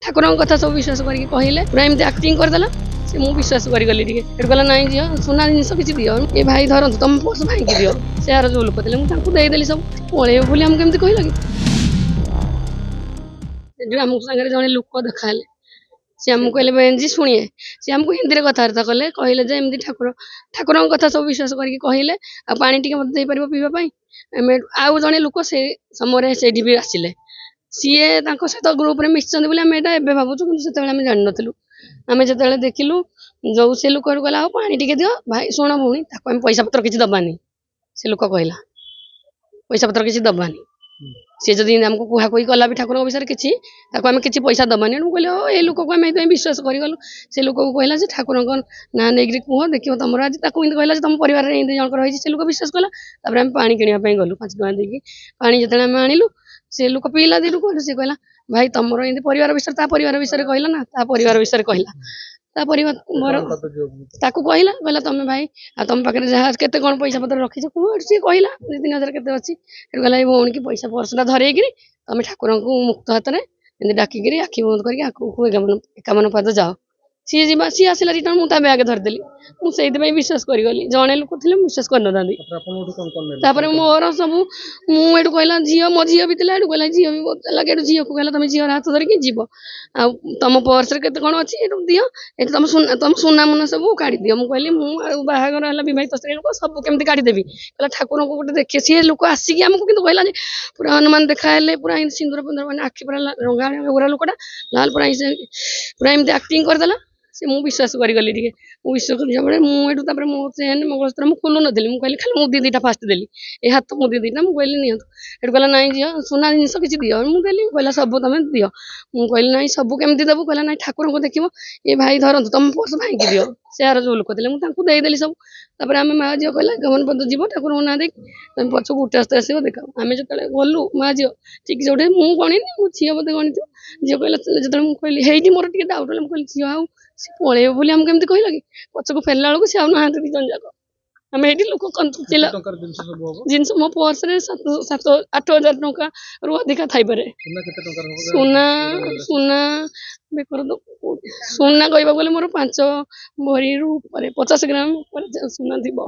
ଠାକୁରଙ୍କ କଥା ସବୁ ବିଶ୍ୱାସ କରିକି କହିଲେ, ପୁରା ଏମିତି ଆକ୍ଟିଂ କରିଦେଲା ସେ, ମୁଁ ବିଶ୍ୱାସ କରିଗଲି ଟିକେ। ସେଠୁ କହିଲା ନାଇଁ ଝିଅ, ସୁନା ଜିନିଷ କିଛି ଦିଅ, ଏ ଭାଇ ଧରନ୍ତୁ, ତମ ପର୍ସ ଭାଇକି ଦିଅ। ସେ ଆର ଯୋଉ ଲୋକ ଥିଲେ, ମୁଁ ତାଙ୍କୁ ଦେଇଦେଲି ସବୁ। ପଳେଇବ ବୋଲି ଆମକୁ କେମିତି କହିଲ କି? ସେଠୁ ଆମକୁ ସାଙ୍ଗରେ ଜଣେ ଲୋକ ଦେଖାହେଲେ, ସେ ଆମକୁ କହିଲେ ବେହେନ୍ ଶୁଣିଏ। ସେ ଆମକୁ ହିନ୍ଦୀରେ କଥାବାର୍ତ୍ତା କଲେ, କହିଲେ ଯେ ଏମିତି ଠାକୁରଙ୍କ କଥା ସବୁ ବିଶ୍ୱାସ କରିକି କହିଲେ, ଆଉ ପାଣି ଟିକେ ମୋତେ ଦେଇପାରିବ ପିଇବା ପାଇଁ? ଆମେ ଆଉ ଜଣେ ଲୋକ ସେ ସମୟରେ ସେଇଠି ବି ଆସିଲେ, ସିଏ ତାଙ୍କ ସହିତ ଗ୍ରୁପରେ ମିଶିଛନ୍ତି ବୋଲି ଆମେ ଏଇଟା ଏବେ ଭାବୁଛୁ, କିନ୍ତୁ ସେତେବେଳେ ଆମେ ଜାଣିନଥିଲୁ। ଆମେ ଯେତେବେଳେ ଦେଖିଲୁ ଯୋଉ ସେ ଲୋକ କହିଲା ଆଉ ପାଣି ଟିକେ ଦିଅ ଭାଇ, ଶୁଣ ଭଉଣୀ, ତାକୁ ଆମେ ପଇସା ପତ୍ର କିଛି ଦବାନି। ସେ ଲୋକ କହିଲା ପଇସା ପତ୍ର କିଛି ଦବାନି, ସିଏ ଯଦି ଆମକୁ କୁହାକୁହି କଲା ବି ଠାକୁରଙ୍କ ବିଷୟରେ କିଛି, ତାକୁ ଆମେ କିଛି ପଇସା ଦବାନି। ମୁଁ କହିଲି ହଉ, ଏଇ ଲୋକକୁ ଆମେ ଏଇଥିପାଇଁ ବିଶ୍ୱାସ କରିଗଲୁ। ସେ ଲୋକକୁ କହିଲା ଯେ ଠାକୁରଙ୍କ ନାଁ ନେଇକିରି କୁହ, ଦେଖିବ ତମର ଆଜି, ତାକୁ ଏମିତି କହିଲା ଯେ ତମ ପରିବାରରେ ଏମିତି ଜଣଙ୍କର ହେଇଛି। ସେ ଲୋକ ବିଶ୍ୱାସ କଲା। ତାପରେ ଆମେ ପାଣି କିଣିବା ପାଇଁ ଗଲୁ 5 ଟଙ୍କା ଦେଇକି। ପାଣି ଯେତେବେଳେ ଆମେ ଆଣିଲୁ, ସେ ଲୋକ ପିଇଲା ଦିନକୁ, ସେ କହିଲା ଭାଇ ତମର ଏମିତି ପରିବାର ବିଷୟରେ, ତା ପରିବାର ବିଷୟରେ କହିଲା ନା, ତା ପରିବାର ବିଷୟରେ କହିଲା, ତା ପରିବାର ମୋର ତାକୁ କହିଲା, କହିଲା ତମେ ଭାଇ ଆଉ ତମ ପାଖରେ ଯାହା କେତେ କ'ଣ ପଇସା ପତ୍ର ରଖିଛ କୁହ। ସିଏ କହିଲା 2-3 ହଜାର କେତେ ଅଛି। ସେଠୁ କହିଲା ଏଇ ଭଉଣୀକି ପଇସା ପର୍ସଟା ଧରେଇକିରି ତମେ ଠାକୁରଙ୍କୁ ମୁକ୍ତ ହାତରେ ଏମିତି ଡାକିକିରି ଆଖି ବନ୍ଦ କରିକି ଆଗକୁ 51 ପାଦ ଯାଅ। ସିଏ ଯିବା, ସିଏ ଆସିଲା ରିଟର୍ନ, ମୁଁ ତା ବ୍ୟାଗ ଧରିଦେଲି। ମୁଁ ସେଇଥିପାଇଁ ବିଶ୍ୱାସ କରିଗଲି। ଜଣେ ଲୋକ ଥିଲେ ମୁଁ ବିଶ୍ୱାସ କରିନଥାନ୍ତି। ତାପରେ ମୋର ସବୁ ମୁଁ ଏଠୁ କହିଲା ଝିଅ, ମୋ ଝିଅ ବି ଥିଲା, ଏଠୁ କହିଲା ଝିଅ ବି ବହୁତ ଲାଗେ। ଏଠୁ ଝିଅକୁ କହିଲା ତମେ ଝିଅର ହାତ ଧରିକି ଯିବ, ଆଉ ତମ ପର୍ସରେ କେତେ କ'ଣ ଅଛି ଏଠୁ ଦିଅ, ଏଠୁ ତମ ସୁନା, ତମ ସୁନା ମୁନା ସବୁ କାଢ଼ିଦିଅ। ମୁଁ କହିଲି ମୁଁ ଆଉ ବାହାଘର ହେଲା ବିବାହିତ ସ୍ତ୍ରୀ ଲୋକ, ସବୁ କେମିତି କାଢ଼ିଦେବି? କହିଲା ଠାକୁରଙ୍କୁ ଗୋଟେ ଦେଖି। ସିଏ ଲୋକ ଆସିକି ଆମକୁ କିନ୍ତୁ କହିଲା ଯେ ପୁରା ହନୁମାନ ଦେଖା ହେଲେ, ପୁରା ଏମିତି ସିନ୍ଦୁର ଫିନ୍ଦୁର, ମାନେ ଆଖି ପୁରା ରଙ୍ଗା ଗୋରା ଲୋକଟା ଲାଲ, ପୁରା ଏମିତି ଆକ୍ଟିଂ କରିଦେଲା ସେ, ମୁଁ ବିଶ୍ୱାସ କରିଗଲି ଟିକେ। ମୁଁ ବିଶ୍ୱାସ କଲି ବେଳେ ମୁଁ ଏଠୁ ତାପରେ ମୋ ଚେନ୍ ମଙ୍ଗଳସୂତ୍ର ମୁଁ ଖୋଲୁ ନଥିଲି। ମୁଁ କହିଲି ଖାଲି ମୁଦି 2ଟା ଫାଷ୍ଟ ଦେଲି, ଏ ହାତ ମୁଦି 2ଟା। ମୁଁ କହିଲି ନିଅନ୍ତୁ। ସେଠୁ କହିଲା ନାଇଁ ଝିଅ, ସୁନା ଜିନିଷ କିଛି ଦିଅ। ମୁଁ ଦେଲି। କହିଲା ସବୁ ତମେ ଦିଅ। ମୁଁ କହିଲି ନାଇଁ ସବୁ କେମିତି ଦେବୁ? କହିଲା ନାଇଁ ଠାକୁରଙ୍କୁ ଦେଖିବ, ଏ ଭାଇ ଧରନ୍ତୁ, ତମ ପର୍ସ ଭାଇକି ଦିଅ। ସେ ଆର ଯୋଉ ଲୋକ ଥିଲେ, ମୁଁ ତାଙ୍କୁ ଦେଇଦେଲି ସବୁ। ତାପରେ ଆମେ ମା ଝିଅ କହିଲା 51 ପଦ ଯିବ, ଠାକୁରଙ୍କ ନାଁ ଦେଇକି ତମେ ପଛକୁ ଉଠି ଆସ୍ତେ ଆସିବ ଦେଖ। ଆମେ ଯେତେବେଳେ ଗଲୁ ମା ଝିଅ ଠିକ ଯୋଉଠି, ମୁଁ ଗଣିନି, ମୋ ଝିଅ ବୋଧେ ଗଣିଥିବ। ଝିଅ କହିଲା, ଯେତେବେଳେ ମୁଁ କହିଲି ହେଇଠି ମୋର ଟିକେ ଡାଉଟ୍ ହେଲା। ମୁଁ କହିଲି ଝିଅ ଆଉ ସେ ପଳେଇବ ବୋଲି ଆମକୁ କେମିତି କହିଲ କି? ପଛକୁ ଫେରିଲା ବେଳକୁ ସେ ଆଉ ନାହାନ୍ତି 2 ଜଣ ଯାକ। ଆମେ ଏଇଠି ଲୋକ ଜିନିଷ ମୋ ପର୍ସରେ 7-8 ହଜାର ଟଙ୍କାରୁ ଅଧିକା ଥାଇପାରେ। ସୁନା, ସୁନା ବେକର ତ ସୁନା କହିବାକୁ ଗଲେ ମୋର 5 ଭରିରୁ ଉପରେ, 50 ଗ୍ରାମ ଉପରେ ସୁନା ଥିବ।